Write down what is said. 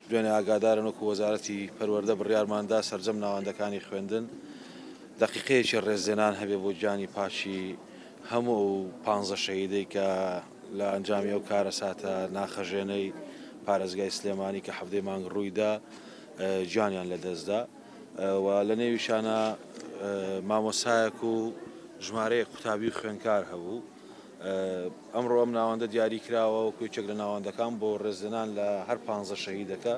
دوێنێ ئاگادارن وەکو وەزارەتی پەروەردە بڕیارماندا سەرجەم ناوەندەکانی خوێندن دەقیقەیەکی ڕێزلێنان هەبێ بۆ گیانی پاکی هەموو ئەو پانزە شەهیدەی کە لە ئەنجامی ئەو کارەساتە ناخەژێنەی پارێزگای سلێمانی کە حەڤدەی مانگ ڕوویدا گیانیان لەدەستدا و لە نێویشانە مامۆسایەک و ژمارەیەک قوتابی و خوێندکار هەبوو. ئەمڕۆ ئەم ناوەندە دیاری کراوە وەکو یەکێک لە ناوەندەکان بۆ ڕێزلێنان لە هەر پانزە شەهیدەکە.